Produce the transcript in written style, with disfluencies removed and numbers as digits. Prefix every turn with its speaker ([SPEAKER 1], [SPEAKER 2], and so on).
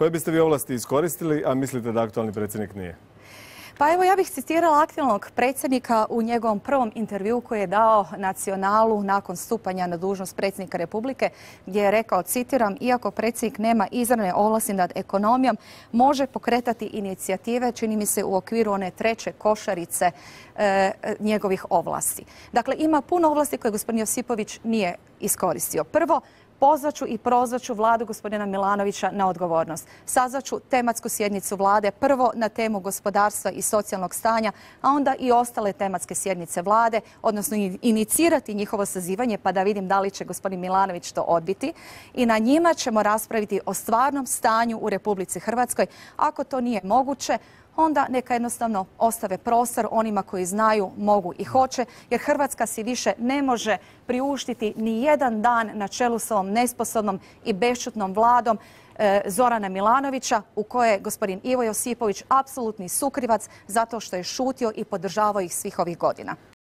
[SPEAKER 1] Koje biste vi ovlasti iskoristili, a mislite da aktualni predsjednik nije?
[SPEAKER 2] Pa evo, ja bih citirala aktualnog predsjednika u njegovom prvom intervjuu koji je dao Nacionalu nakon stupanja na dužnost predsjednika Republike, gdje je rekao, citiram, iako predsjednik nema izravne ovlasti nad ekonomijom, može pokretati inicijative, čini mi se u okviru one treće košarice njegovih ovlasti. Dakle, ima puno ovlasti koje gospodin Josipović nije iskoristio. Prvo, pozvaću i prozvaću vladu gospodina Milanovića na odgovornost. Sazvaću tematsku sjednicu vlade, prvo na temu gospodarstva i socijalnog stanja, a onda i ostale tematske sjednice vlade, odnosno inicirati njihovo sazivanje pa da vidim da li će gospodin Milanović to odbiti. I na njima ćemo raspraviti o stvarnom stanju u Republici Hrvatskoj. Ako to nije moguće, onda neka jednostavno ostave prostor onima koji znaju, mogu i hoće, jer Hrvatska si više ne može priuštiti ni jedan dan na čelu s ovom nesposobnom i bešćutnom vladom Zorana Milanovića, u kojoj je gospodin Ivo Josipović apsolutni sukrivac zato što je šutio i podržavao ih svih ovih godina.